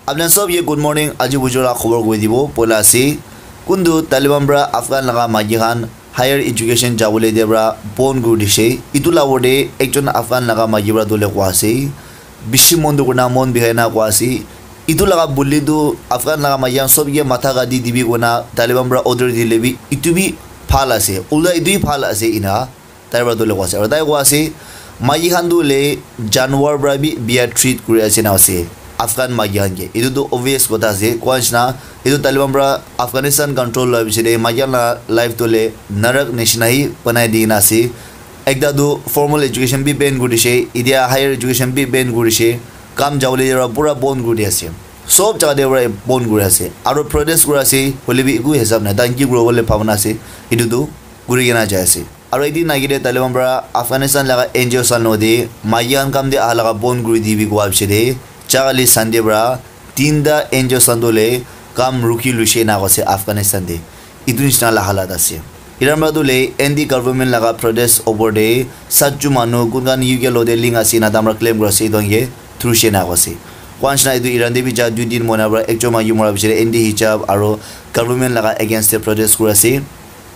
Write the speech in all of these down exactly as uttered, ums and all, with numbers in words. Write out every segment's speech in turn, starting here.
Apni sob ye good morning, aji bujo la khobor koi dibo. Poila ase, kuntu Taliban pra Afghan laga maiki khan higher education jabole dia pra bon kuri dishe. Itu la worde ekjon Afghan laga maiki pra dole kwa ase. Bishi mon dukh kurina mon bikhai na kwa ase. Itu laga bully tu Afghan laga maiki khan sob ke matha kati dibi koina Taliban pra order dile bi itu bi bhal ase. Ulta itu bi bhal ase ina tai pra tu le kwa ase. Aru tai kwa ase, maiki khan tu le janwar pra bi bia treat kuri ase na ase. Afghan maiki khan ke. Itu tu obvious kotha ase. Kwa nishina, itu Taliban pra Afghanistan control la bishi de maiki khan la life tu le narak nishina hi banai di na ase. Ekta tu formal education bi ban kuri dishe, itia higher education bi ban kuri dishe, kam jabole pura bon kuri di ase. Sob jaga te pura bon kuri ase. Aru protest kuri ase, hoile bi eku hisab nai. Tahan ki kuribo le bhabna ase, etu tu kuri kena jai ase. Aru ekdin naki te Taliban pra Afghanistan laga N G O san lode maiki khan kam te aha laga bon kuri dibi kowa bishi de, jaga le Sunday pra tinta N G O san tu le kam rukhi luishe na kose Afghanistan te. Itu nishina la halat ase. Iran pra tu le anti government laga protest opor te satju manu kun khan U K lo te link ase na tamra claim kura ase itu ange thurushe na ase. Kwa nishina itu Iran te bi ja dui din moina pra ekjon maiki mora bishi de anti hijab aro government laga against te protest kura ase.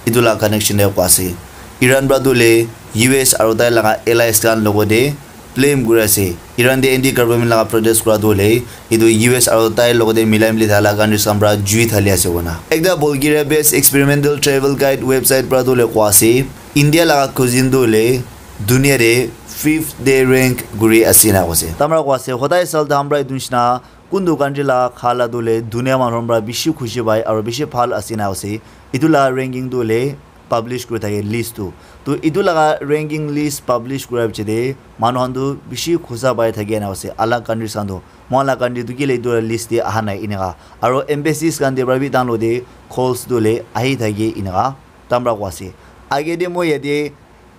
Itu la connection de kwa ase. Iran pra tu le U S aro tai laga allies khan logo de blame kuri ase. Iran te anti government laga protest kura tu hoile, etu U S aru tai logote milai mili thala countries khan pra jui thali ase koina. Ekta Bulgaria based experimental travel guide website pra tu hoile kwa ase, India laga cuisine tu hoile dunia te fifth day rank kuri ase na kose. Tamra kwa ase, hodai sal dam pra etu nishina kuntu country laga khala tu hoile dunia manu pra bishi khushi pai aru bishi bhal ase na kose. Etu la ranking tu hoile publish kuri thake list tu. Tu etu laga ranking list publish kura piche te manu khan tu bishi khusa pai thake na ase. Alag countries khan tu moikhan la country tu kile etu la list te aha nai eneka. Aro embassies khan te pra bi tahan lode calls tu le ahi thake eneka tamra kwa ase. Age te moi yate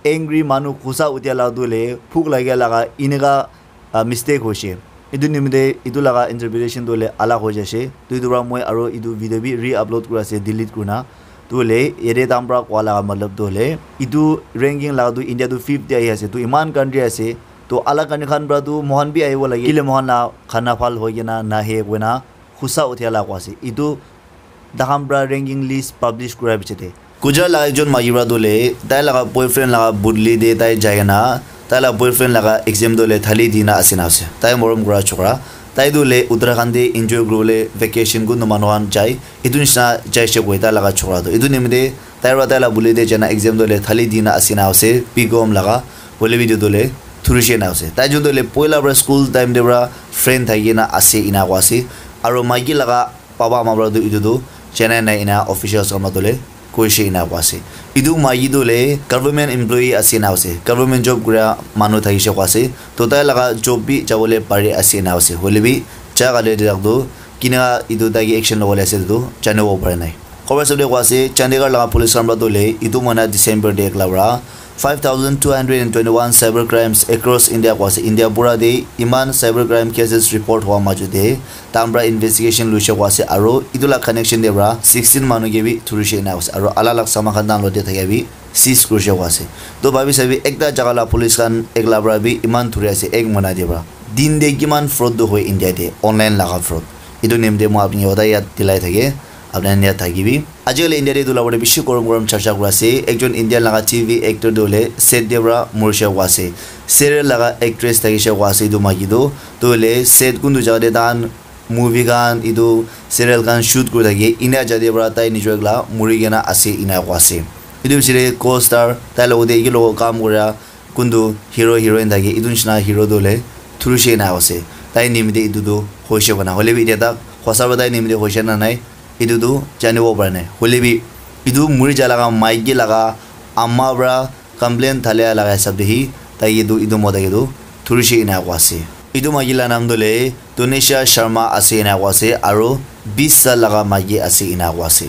angry manu khusa utia la tu le phuk lagia laga eneka ah, mistake hoise. Etu nimite etu laga interpretation tu hoile alag hoi jaise. Tu etu para moi aro etu video bi re-upload kuri ase, delete kurina. Tu hoile yate tahan para koa laga matlab tu hoile etu ranking laga tu India tu fifth te ahi ase. Tu eman country ase. Tu alag country khan para tu moikhan bi ahibo lage. Kile moikhan la khana bhal hoi kena nahe koina khusa uthia la koa ase. Etu tahan para ranking list publish kura piche te Gujarat laga ekjon maiki para tu hoile tai laga boyfriend laga budli te tai jai kena tai laga boyfriend laga exam tu hoile thali dina ase na ase. Tai morom kura chokra. Tai tu hoile Uttarakhand te enjoy kuribole vacation kuntu manu khan jai. Etu nishina jaise koi tai laga chokra tu. Etu nimite tai para tai laga budli te jaina exam tu hoile thali dina ase na ase. B com laga hoile bi etu tu hoile thurishe na ase. Tai jun tu hoile poila para school time te para friend thaki kena ase ena koa ase. Aro maiki laga papa ama para tu etu tu janai nai ena officials khan para tu hoile koishe ena koa ase. Etu maiki tu hoile government employee ase ena ase. Government job kura manu thakishe koa ase. To tai laga job bi jabole pari ase ena ase. Hoile bi ja kale te tak tu kina etu tai ke action lobole ase etu tu janibo para nai. Khobor sabole koa ase, Chandigarh laga police khan para tu hoile etu mahina December te ekla para five thousand two hundred and twenty-one cyber crimes across India koa ase. India pura te iman cyber crime cases report hoa majot te tahan para investigation luishe koa ase aro etu la connection te para sixteen manu ke bi thurishe ena koa ase aro alag alag saman khan tahan logote thakia bi seize kurishe koa ase. To bhabi sabi ekta jaga la police khan ekla para bi iman thuri ase ek mahina te para. Din te kiman fraud tu hoi India te online laga fraud. Etu nimite moi apni ke hodai yat dilai thake, apni khan yat thakibi. Ajikali India te etu la opor te bishi gorom gorom charcha kuri ase. Ekjon Indian laga T V actor tu hoile set te para morishe koa ase. Serial laga actress thakishe koa ase etu maiki tu. Tu hoile set kuntu jaga te tahan movie khan etu serial khan shoot kuri thake ena jaga te para tai nijor ekla muri kena ase ena koa ase. Etu piche te co-star tai logote eki logo kam kura kuntu hero heroine thake etu nishina hero tu hoile thurishe ena ase. Tai nimite etu tu hoishe koina. Hoile bi etia tak hosa para tai nimite hoishe na nai etu tu janibo para nai. Hoile bi etu muri ja laga maiki laga ama para complain thalia laga hisab te hi tai ke tu etu mota ke tu thurishe ena koa ase. Etu maiki la naam tu hoile Tunisha Sharma ase ena koa ase aro bis saal laga maiki ase ena koa ase.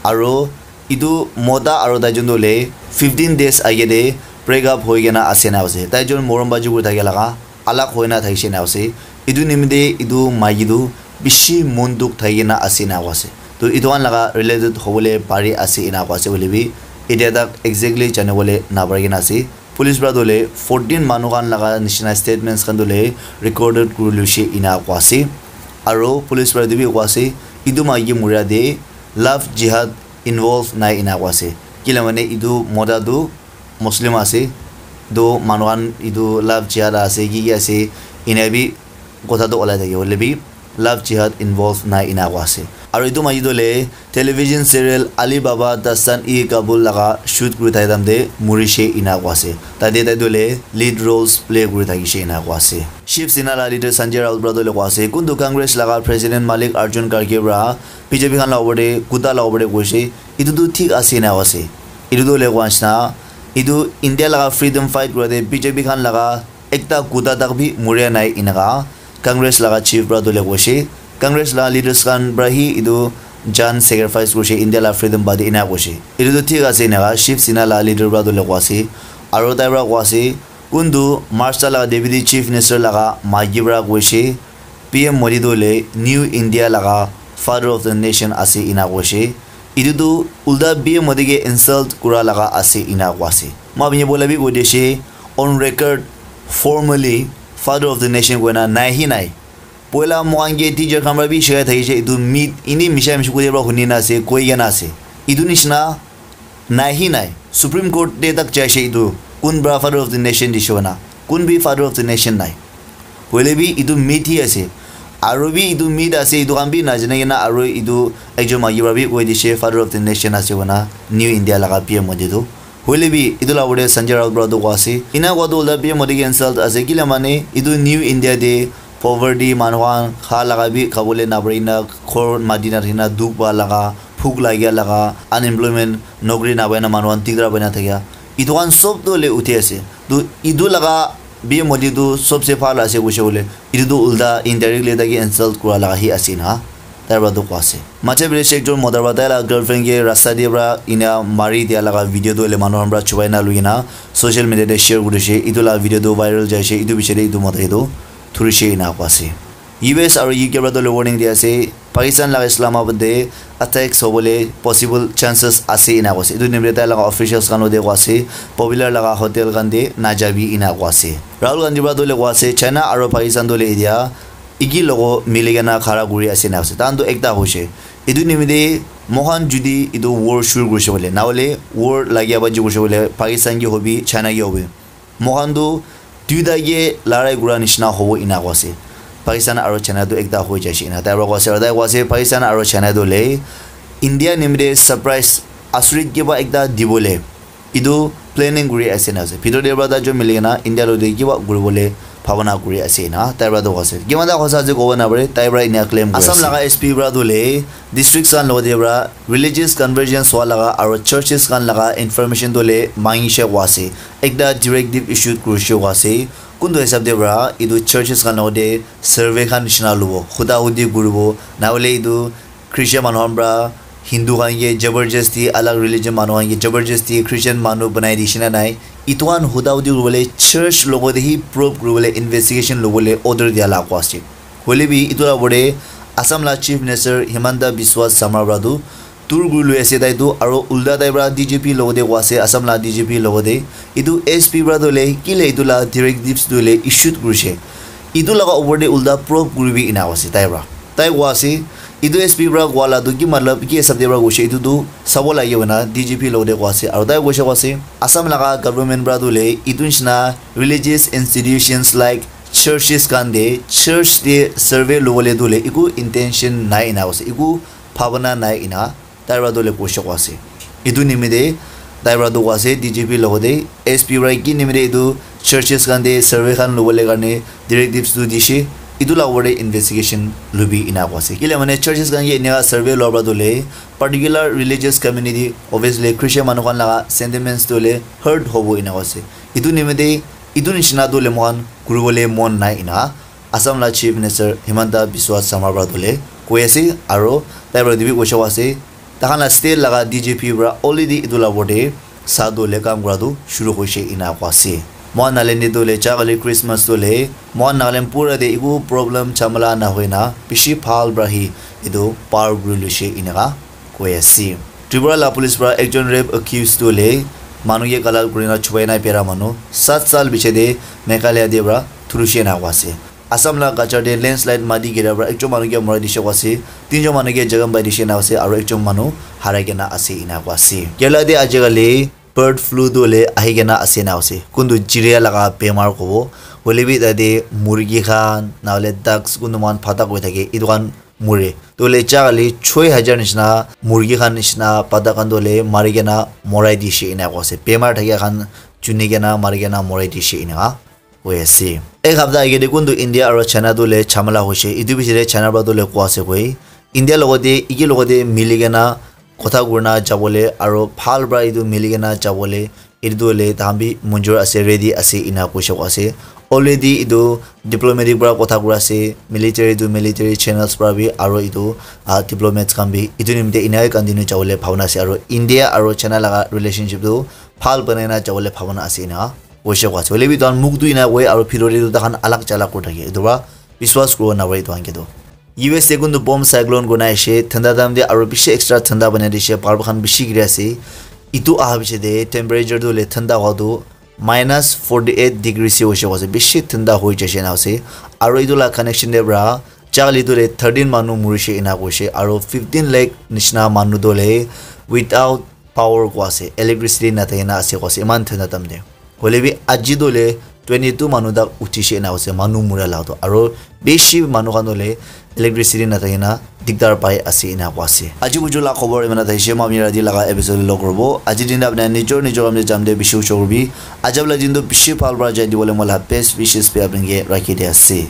Aro etu mota aro tai jun tu hoile fifteen days age te break up hoi kena ase ena koa ase. Tai jun morom baji kuri thakia laga alag hoi na thakishe ena ase. Etu nimite etu maiki tu bishi mon dukh thaki kena ase ena koa ase. To etu khan laga related hobole pari ase ena koa ase hoile bi etia tak exactly janibole napari kena ase. Police para tu hoile fourteen manu khan laga nishina statements khan tu hoile recorded kuri luishe ena koa ase. Aro police para etu bi koa ase, etu maiki muria te love jihad involve nai ena koa ase. Kila mane etu mota tu Muslim ase, tu manu khan etu love jihad ase ki ki ase, ena bi kotha tu olai thake hoile bi love jihad involve nai ena koa ase. Aro etu maiki tu le television serial Ali Baba Dastan-e-Kabul laga shoot kuri thaka time te murishe ena koa ase. Tate tai tu le lead roles play kuri thakishe ena koa ase. Shiv Sena la leader Sanjay Raut para tu le koa ase, kuntu Congress laga President Mallikarjun Kharge para B J P khan la opor te, kuta la opor te koishe, etu tu thik ase ena koa ase. Etu tu le koa nishina, etu India laga freedom fight kura te B J P khan laga ekta kuta tak bi muria nai enaka Congress laga chief para tu le koishe, Congress laga leaders khan para hi etu jan sacrifice kurishe India laga freedom bade ena koishe. Etu tu thik ase enaka Shiv Sena laga leader para tu le koa ase. Aro tai para koa ase, kuntu Maharashtra laga deputy chief minister laga maiki para koishe, P M Modi tu le new India laga father of the nation ase ena koishe. Etu tu ulta P M Modi ke insult kura laga ase ena koa ase. Moi apni bola bi koi dishe, on record, formally father of the nation koina nai hi nai. Poila moikhan ke teacher khan para bi shikai thakishe, etu myth, eni misha misha koi para huni na ase, koi kena ase. Etu nishina nai hi nai. Supreme Court te tak jaishe etu, kun para father of the nation dishe koina, kun bi father of the nation nai. Hoile bi etu myth hi ase. Aro bi etu myth ase, etu khan bi najane kena aro etu ekjon maiki para bi koi dishe, father of the nation ase koina, new India laga P M Modi tu. Hoile bi etu la opor te Sanjay Raut para tu koa ase, ena koa tu ulta P M Modi ke insult ase, kila mane etu new India te poverty, manu khan kha laga bi khabole na pari na, ghor mati na thaki na, dukh pa laga, bhuk lagia laga, unemployment, nokri na pai na manu khan dikdar pai na thakia, etu khan sob tu le uthi ase. Tu etu laga P M Modi tu sobse bhal ase koishe bole, etu tu ulta indirectly tai ke insult kura laga hi ase na, tai para tu koa ase. Madhya Pradesh ekjon mota para tai la girlfriend ke rasta te para ena mari dia laga video tu le manu khan para chubai na lui kena social media te share kurishe, etu la video tu viral jaishe, etu piche te etu mota etu thurishe ena koa ase. U S aro U K para tu le warning dia ase, Pakistan laga Islamabad te attacks hobole possible chances ase ena koa ase. Etu nimite tai laga officials khan logote koa ase, popular laga hotel khan te najabi ena koa ase. Rahul Gandhi para tu le koa ase, China aro Pakistan tu le etia eki logo mili kena khara kuri ase ena ase. Tahan tu ekta hoishe. Etu nimite moikhan judi etu war shuru kurishe bole, na hole war lagia baji kurishe bole, Pakistan ki hobi, China ki hobi, moikhan tu duita ke larai kura nishina hobo ena koa ase. Pakistan aro China tu ekta hoi jaishe ena tai para koa ase, aro tai koa ase Pakistan aro China tu le India nimite surprise asurit kiba ekta dibole etu planning kuri ase ena ase. Bhitor te para tai jon mili kena India logote kiba kuribole bhabana kuri ase ena tai para tu koa ase. Kiman ta hosa ase kobo na pare, tai para ena claim kuri ase. Assam laga S P para tu le districts khan logote para religious convergence hua laga aro churches khan laga information tu le mangishe koa ase. Ekta directive issued kurishe koa ase. Kuntu hisab te para etu churches khan logote survey khan nishina lobo, huda hudi kuribo, na hole etu Christian manu khan para Hindu khan ke jabardasti, alag religion manu khan ke jabardasti Christian manu banai dishe na nai, etu khan huda hudi kuribole church logote hi probe kuribole investigation lobole order dia la koa ase. Hoile bi etu la opor te Assam la Chief Minister Himanta Biswa Sarma para tu dur kuri lui ase tai tu, aro ulta tai para D G P logote koa ase, Assam la D G P logote. Etu S P para tu le kile etu la directives tu le issued kurishe, etu laga opor te ulta probe kuribi ena koa ase tai para. Tai koa ase, etu S P para koa la tu ki matlab, ki hisab te para koishe, etu tu sabo lage koina D G P logote koa ase. Aro tai koishe koa ase, Assam laga government para tu le etu nishina religious institutions like churches khan te, church te survey lobole tu le eku intention nai ena koa ase, eku bhabana nai ena tai para tu le koishe koa ase. Etu nimite tai para tu koa ase, D G P logote S P para ki nimite etu churches khan te survey khan lobole karne directives tu dishe, etu la opor te investigation lobi ena koa ase. Kile mane churches khan ke eneka survey loa para tu le particular religious community, obviously Christian manu khan laga sentiments tu le hurt hobo ena koa ase. Etu nimite etu nishina tu le moikhan kuribole mon nai ena Assam la Chief Minister Himanta Biswa Sarma para tu le koi ase, aro tai para etu bi koishe koa ase, tai khan la state laga D G P para already etu la opor te sa tu le kam kura tu shuru hoishe ena koa ase. Moikhan Nagaland te tu le ja kali Christmas tu le moikhan Nagaland pura te eku problem jhamala na hoi na bishi bhal para hi etu par kuri loishe eneka koi ase. Tripura la police para ekjon rape accused tu le manu ke galal kuri na chubai na bera manu sat sal piche te Meghalaya te para thurishe ena koa ase. Assam la Cachar te landslide mati gira para ekjon manu ke morai dishe koa ase, tinjon manu ke jakham pai dishe ena ase, aro ekjon manu harai kena ase ena koa ase. Kerala te ajikali bird flu tu hoile ahi kena ase ena ase, kuntu chiria laga bemar kobo, hoile bi tate murgi khan nahole ducks kuntu moikhan phata koi thake, etu khan mure. Tu hoile chakali choi hajar nishina murgi khan nishina phata khan tu hoile mari kena morai dishe ena koa ase, bemar thakia khan chuni kena mari kena morai dishe ena koi ase. Ek hapta agey te kuntu India aro China tu le jhamela hoise. Etu bichare China para tu le koa ase koi, India logote, iki logote mili kena kotha kurina jabole aro bhal para etu mili kena jabole, etu tu le tahan bi munjur ase, ready ase ena koise koa ase. Already etu diplomatic para kotha kura ase, military tu military channels para bi, aro etu, ah, diplomats khan bi etu nimite ena continue jabole bhabona ase, aro India aro China laga relationship tu bhal banai na jabole bhabona ase ena koise koa ase. Hoile bi tahan muk tu ena koi aro bhitor te tu tahan alag chalak kuri thake. Etu para biswas kuribo napare etu khan ke tu. U S te kuntu bomb cyclone kurina aishe, thanda time te aro bishi extra thanda banai dishe, bhal khan bishi giri ase. Etu aha piche te temperature tu hoile thanda howa tu minus forty eight degree se hoise koa ase, bishi thanda hoi jaise ena ase. Aro etu la connection te para chakali tu hoile thirteen manu murishe ena koishe, aro fifteen lakh nishina manu tu hoile without power koa ase, electricity nathakina ase koa ase, eman thanda time te. Hoile bi aji tu hoile twenty two manu tak uthishe ena koa ase, manu mura la tu. Aro bishi manu khan tu hoile electricity nathakina dikdar pai ase ena koa ase. Aji buju la khobor eman thaishe, ami rati laga episode log kuribo. Aji din apni nijor nijor kam te jam te bishi ushor kuribi. Ajab la din tu bishi bhal para jai dibole moi la best wishes bi apni ke rakhi di ase.